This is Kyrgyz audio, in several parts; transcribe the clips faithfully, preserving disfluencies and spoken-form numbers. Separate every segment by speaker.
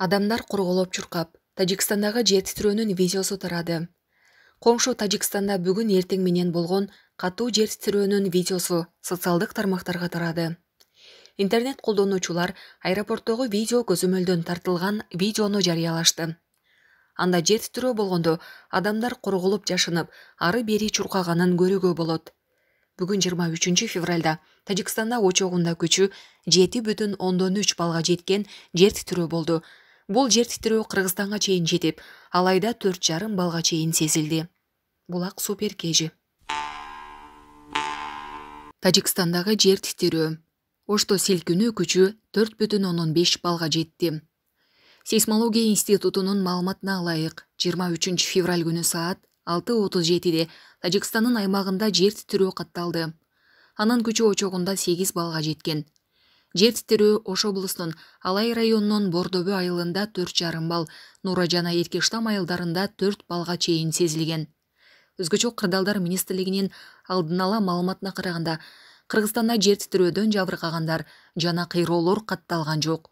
Speaker 1: Адамдар курголоп чуркап, Тажикстандагы жер титирөөнүн видеосу тарады. Коңшу Тажикстанда бүгүн эртең менен болгон катуу жер титирөөнүн видеосу социалдык тармактарга тарады. Интернет колдонуучулар аэропорттогу видео көзөмөлдөн тартылган видеону жарыялашты. Анда жер титирөө болгондо адамдар курголуп жашынып, ары бери чуркаганын көрүүгө болот. Бүгүн жыйырма үчүнчү февралда Тажикстанда очогунда күчү жети бүтүн ондон үч балга жеткен жер титирөө болду. Бул жер титирөө Кыргызстанга чейин жетип, алайда төрт жарым балга чейин сезилди. Булак супер кежи. Тажикстандагы жер титирөө. Ошто силкинүү күчү төрт бүтүн ондон беш балга жетти. Сейсмология институтунун маалыматына ылайык, жыйырма үчүнчү февраль күнү саат алты отуз жетиде Тажикстандын аймагында жер титирөө катталды. Анын күчү очогунда сегиз балга жеткен. Жер титирөө Ош облусунун Алай районунун Бордобө айылында төрт жарым бал, Нура жана Эркештам айылдарында төрт балга чейин сезилген. Өзгөчө кырдаалдар министрлигинин алдын ала маалыматына караганда, Кыргызстанда жер титирөөдөн жабыркагандар жана кыйроолор катталган жок.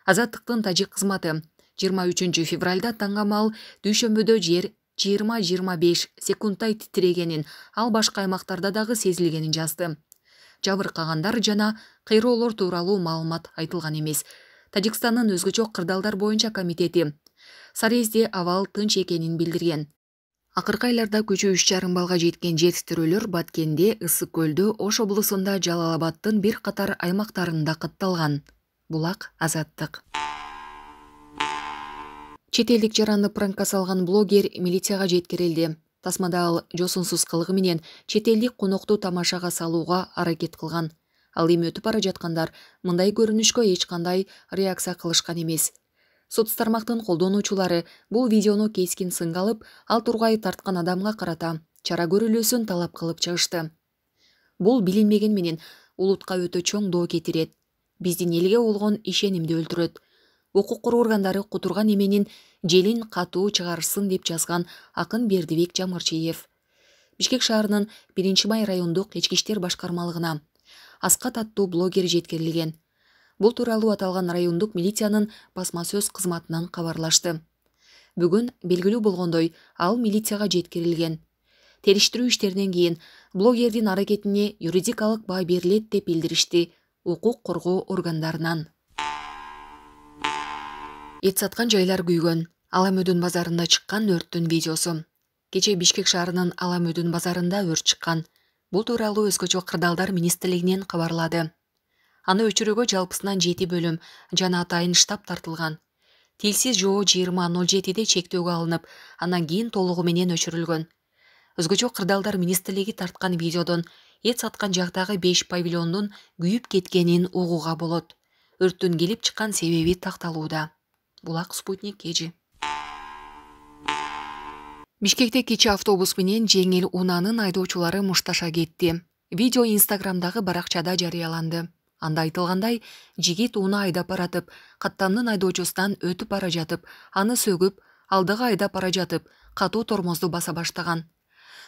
Speaker 1: Азаттыктын тажик кызматы жыйырма үчүнчү февралда таңгамал дүйшөмбөдө жер жыйырма жыйырма беш секундтай титирегенин, ал башка аймактарда дагы сезилгенин жазды. Жабыркагандар жана кыйроолор тууралуу маалымат айтылган эмес. Тажикстандын өзгөчө кырдаалдар боюнча комитети Сарезде абал тынч экенин билдирген. Акыркы айларда күчү үч жарым балга жеткен жер титирөөлөр Баткенде, Ысык көлдө, Ош облусунда, Жалал-Абадтын бир катар аймактарында катталган. Булак Азаттык. Чет элдик жаранды пранкка салган блогер милицияга жеткирилди. Тасмада ал жосунсуз кылыгы менен чет элдик конокту тамашага салууга аракет кылган. Ал эми өтүп бара жаткандар мындай көрүнүшкө эч кандай реакция кылышкан эмес. Соц тармактын колдонуучулары бул видеону кескин сынга алып, ал тургай тарткан адамга карата чара көрүлүүсүн талап кылып чыгышты. Бул билинбеген менен улутка өтө чоң доо кетирет. Биздин элге болгон ишенимди өлтүрөт. Укук коргоо органдары кутурган эменин желин катуу чыгарышсын деп жазган акын Бердибек Жамырчиев. Бишкек шаарынын биринчи май райондук ички иштер башкармалыгына Аскат аттуу блогер жеткирилген. Бул тууралуу аталган райондук милициянын басма сөз кызматынан кабарлашты. Бүгүн белгилүү болгондой, ал милицияга жеткирилген. Териштирүү иштеринен кийин блогердин аракетине юридикалык баа берилет деп билдиришти укук коргоо органдарынан. Эт саткан жайлар күйгөн. Аламөдүн базарында чыккан өрттүн видеосу. Кече Бишкек шаарынын Аламөдүн базарында өрт чыккан. Бул тууралуу өзгөчө кырдаалдар министрлигинен кабарлады. Аны өчүрүүгө жалпысынан жети бөлүм жана атайын штаб тартылган. Тилсиз жоо жыйырма ноль жетиде чектөөгө алынып, андан кийин толугу менен өчүрүлгөн. Өзгөчө кырдаалдар министрлиги тарткан видеодон эт саткан жактагы беш павильондун күйүп кеткенин угууга болот. Өрттүн келип чыккан себеби такталууда. Булак Спутник кежи. Бишкекте кечээ автобус менен жеңил унаанын айдоочулары мушташа кетти. Видео Инстаграмдагы баракчада жарыяланды. Анда айтылгандай, жигит уна айдап баратып, каттамдын айдоочусунан өтүп бара жатып, аны сөгүп, алдыга айдап бара жатып, катуу тормозду баса баштаган.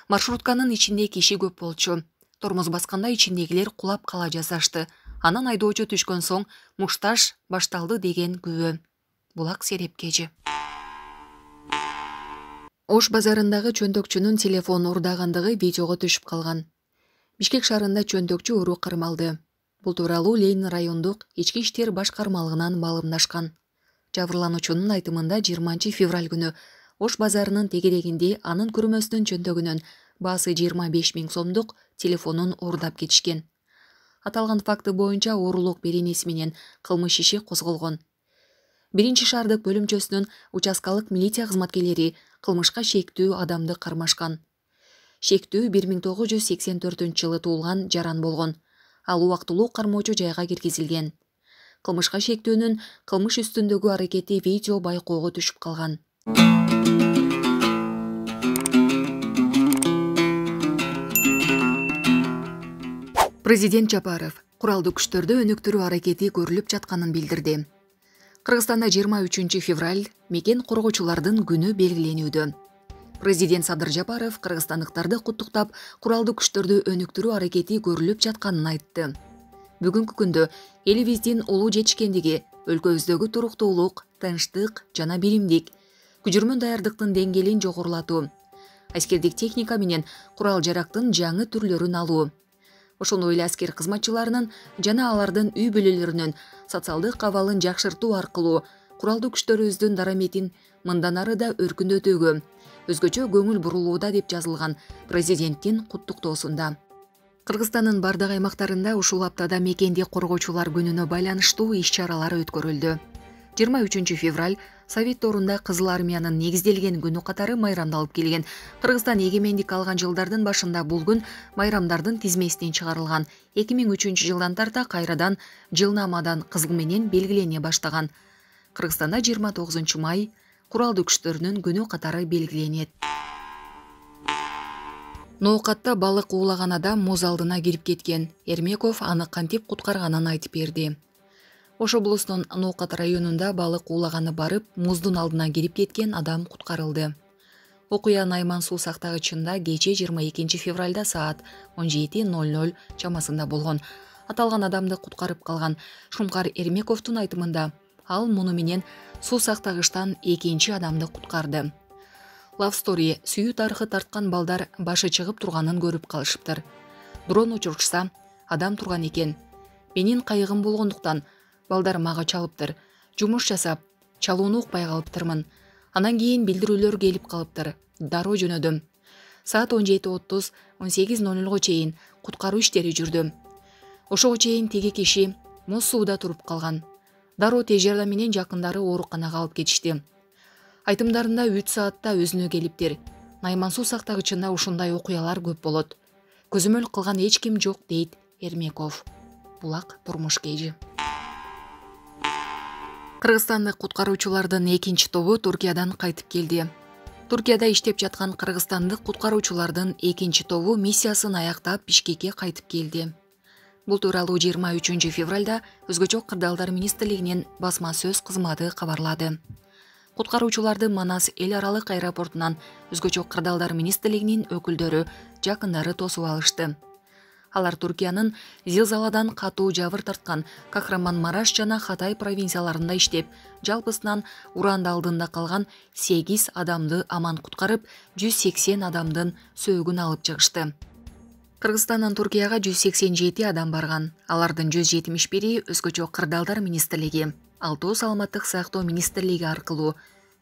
Speaker 1: Маршрутканын ичинде киши көп болчу. Тормоз басканда ичиндегилер кулап кала жаздашты. Анан айдоочу түшкөн соң мушташ башталды деген күбө. Булак Сереп кежи. Ош базарындагы чөнтөкчүнүн телефон урдагандыгы видеого түшүп калган. Бишкек шаарында чөнтөкчү уруу кармалды. Бул тууралуу Ленин райондук ички иштер башкармалыгынан маалымдашкан. Жабырлануучунун айтымында жыйырманчы февраль күнү Ош базарынын тегерегинде анын күрмөсүнүн чөнтөгүнөн баасы жыйырма беш миң сомдук телефонун уурдап кетишкен. Аталган факты боюнча уурулук беренеси менен кылмыш иши козголгон. Биринчи шаардык бөлүмчөсүнүн участкалык милиция кызматкерлери кылмышка шектүү адамды кармашкан. Шектүү бир миң тогуз жүз сексен төртүнчү жылы туулган жаран болгон. Ал убактылуу кармоочу жайга киргизилген. Кылмышка шектүүнүн кылмыш үстүндөгү аракети видео байкоого түшүп калган. Президент Жапаров куралдуу күчтөрдө өнүктүрүү аракети көрүлүп жатканын билдирди. Кыргызстанда жыйырма үчүнчү февраль мекен коргоочулардын күнү белгиленүүдө. Президент Садыр Жапаров кыргызстандыктарды куттуктап, куралдуу күчтөрдү өнүктүрүү аракети көрүлүп жатканын айтты. Бүгүнкү күндө элибиздин улуу жетишкендиги, өлкөбүздөгү туруктуулук, тынчтык жана биримдик, күчүрмөн даярдыктын деңгээлин жогорулатуу, аскердик техника менен курал жарактын жаңы түрлөрүн алуу, ошондой эле аскер кызматчыларынын жана алардын үй бүлөлөрүнүн социалдык абалын жакшыртуу аркылуу куралдуу күчтөрүбүздүн дараметин мындан ары да өркүндөтүүгө өзгөчө көңүл бурулууда деп жазылган президенттин куттуктоосунда. Кыргызстандын бардык аймактарында ушул аптада мекенди коргоочулар күнүнө байланыштуу иш-чаралар өткөрүлдү. жыйырма үчүнчү февраль Совет доорунда Кызыл армиянын негизделген күнү катары майрамдалып келген. Кыргызстан эгемендик алган жылдардын башында бул күн майрамдардын тизмесинен чыгарылган. эки миң үчүнчү жылдан тарта кайрадан жылнамадан кызыл менен белгилене баштаган. Кыргызстанда жыйырма тогузунчу май куралдуу күчтөрүнүн күнү катары белгиленет. Ноокатта балык уулаган адам муз алдына кирип кеткен. Эрмеков аны кантип куткарганын айтып берди. Ош облусунун Ноокат районунда балык уулаганы барып, муздун алдына кирип кеткен адам куткарылды. Окуя Найман суу сактагычында кече жыйырма экинчи февралда саат он жети ноль ноль чамасында болгон. Аталган адамды куткарып калган Шумкар Эрмековдун айтымында, ал муну менен суу сактагычтан экинчи адамды куткарды. Love Story сүйүү тарыхы тарткан балдар башы чыгып турганын көрүп калышыптыр. Дрон учурчса, адам турган экен. Менин кайыгым болгондуктан балдар мага чалыптыр. Жумуш жасап, чалууну укпай калыптырмын. Анан кийин билдирүүлөр келип калыптыр. Дароо жөнөдүм. Саат он жети отуз он сегиз ноль нольго чейин куткаруу иштери жүрдү. Ошого чейин теги киши муз сууда туруп калган. Дароо тез жардам менен жакындары ооруканага алып кетишти. Айтымдарында үч саатта өзүнө келиптир. Найман суу сактагычында ушундай окуялар көп болот. Көзөмөл кылган эч ким жок, дейт Эрмеков. Булак турмуш кежи. Кыргызстандык куткаруучулардын экинчи тобу Туркиядан кайтып келди. Туркияда иштеп жаткан кыргызстандык куткаруучулардын экинчи тобу миссиясын аяктап Бишкекке кайтып келди. Бул тууралуу жыйырма үчүнчү февралда Өзгөчө кырдаалдар министрлигинин басма сөз кызматы кабарлады. Куткаруучуларды Манас эл аралык аэропортунан Өзгөчө кырдаалдар министрлигинин өкүлдөрү, жакындары тосуп алышты. Алар Туркиянын зилзаладан катуу жабыр тарткан Кахраман-Мараш жана Хатай провинцияларында иштеп, жалпысынан уранды алдында калган сегиз адамды аман куткарып, жүз сексен адамдын сөөгүн алып чыгышты. Кыргызстандан Туркияга жүз сексен жети адам барган. Алардын жүз жетимиш бири Өзгөчө кырдаалдар министрлиги, алтоо саламаттык сактоо министрлиги аркылуу,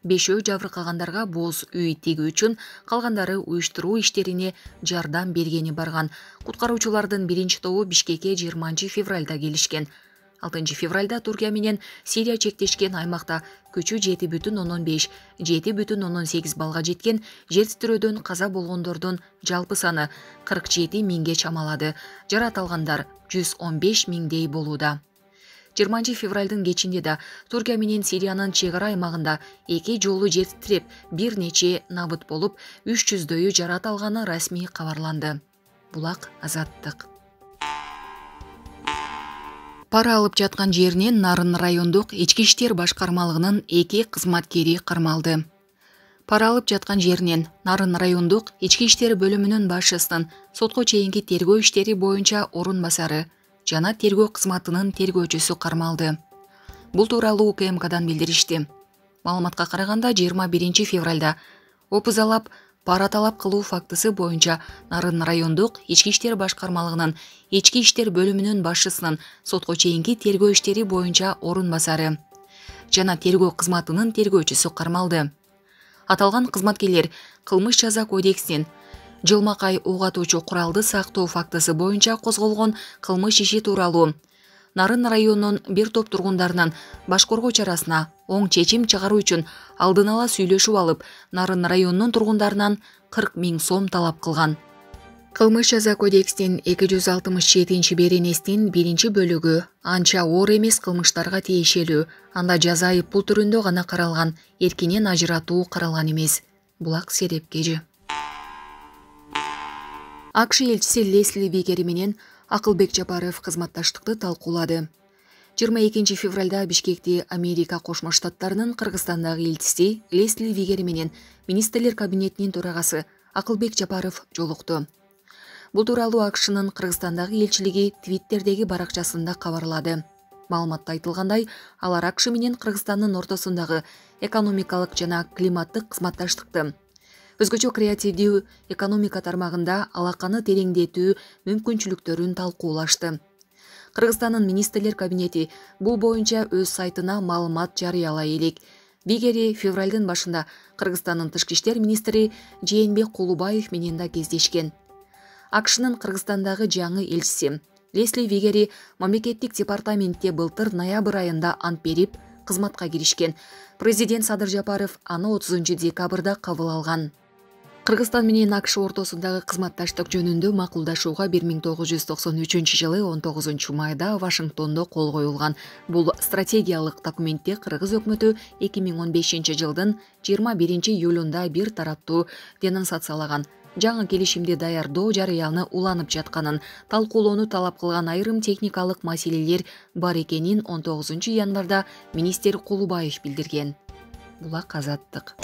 Speaker 1: бешөө жабыркагандарга боз үй тигүү үчүн, калгандары уюштуруу иштерине жардам бергени барган. Куткаруучулардын биринчи тобу Бишкекке жыйырманчы февралда келишкен. алтынчы февралда Туркия менен Сирия чектешкен аймакта күчү жети бүтүн ондон беш — жети бүтүн ондон сегиз балга жеткен жер титирөөдөн каза болгондордун жалпы саны кырк жети миңге чамалады. Жарат алгандар жүз он беш миңдей болууда. жыйырманчы февралдын кечинде да Туркия менен Сириянын чек ара аймагында эки жолу жер титиреп, бир нече набыт болуп, үч жүздөйү жарат алганы расмий кабарланды. Булак Азаттык. Пара алып жаткан жеринен Нарын райондук ички иштер башкармалыгынын эки кызматкери кармалды. Пара алып жаткан жеринен Нарын райондук ички иштер бөлүмүнүн башчысынын сотко чейинки тергөө иштери боюнча орун басары жана тергөө кызматынын тергөөчүсү кармалды. Бул тууралуу УКМКдан билдиришти. Маалыматка караганда жыйырма биринчи февралда опузалап пара талап кылуу фактысы боюнча Нарын райондук ички иштер башкармалыгынын ички иштер бөлүмүнүн башчысынын сотко чейинки тергөө иштери боюнча орун басары жана тергөө кызматынын тергөөчүсү кармалды. Аталган кызматкерлер кылмыш жаза кодексинин жылмакай ок атуучу куралды сактоо фактысы боюнча козголгон кылмыш иши тууралуу Нарын районунун бир топ тургундарынын баш коргоо чарасына оң чечим чыгаруу үчүн алдын ала сүйлөшүп алып, Нарын районунун тургундарынан кырк миң сом талап кылган. Кылмыш жаза кодексинин эки жүз алтымыш жетинчи беренесинин биринчи бөлүгү анча оор эмес кылмыштарга тиешелүү, анда жаза айып пул түрүндө гана каралган, эркинен ажыратуу каралган эмес. Булак Серепкежи. АКШ элчиси Лесли Вигери менен Акылбек Жапаров кызматташтыкты талкуулады. жыйырма экинчи февралда Бишкекти Америка Кошмо Штаттарынын Кыргызстандагы элчиси Лесли Вигери менен министрлер кабинетинин төрагасы Акылбек Жапаров жолукту. Бул тууралуу АКШнын Кыргызстандагы элчилиги Твиттердеги баракчасында кабарлады. Маалыматта айтылгандай, алар АКШ менен Кыргызстандын ортосундагы экономикалык жана климаттык кызматташтыкты, өзгөчө креативдүү экономика тармагында алаканы тереңдетүү мүмкүнчүлүктөрүн талкуулашты. Кыргызстандын министрлер кабинети бул боюнча өз сайтына маалымат жарыялай элек. Вигери февралдын башында Кыргызстандын тышкы иштер министри Жээнбек Кулубаев менен да кездешкен. АКШнын Кыргызстандагы жаңы элчиси Лесли Вигери мамлекеттик департаментте былтыр ноябрь айында ант берип, кызматка киришкен. Президент Садыр Жапаров аны отузунчу декабрда кабыл алган. Кыргызстан менен АКШ ортосундагы кызматташтык жөнүндө макулдашууга бир миң тогуз жүз токсон үчүнчү жылы он тогузунчу майда Вашингтондо кол коюлган. Бул стратегиялык документте Кыргыз өкмөтү эки миң он бешинчи жылдын жыйырма биринчи июлунда бир тараптуу денонсациялаган. Жаңы келишимди даярдоо жарыяны уланып жатканын, талкуулоону талап кылган айрым техникалык маселелер бар экенин он тогузунчу январда министр Кулубаев билдирген. Булак Азаттык.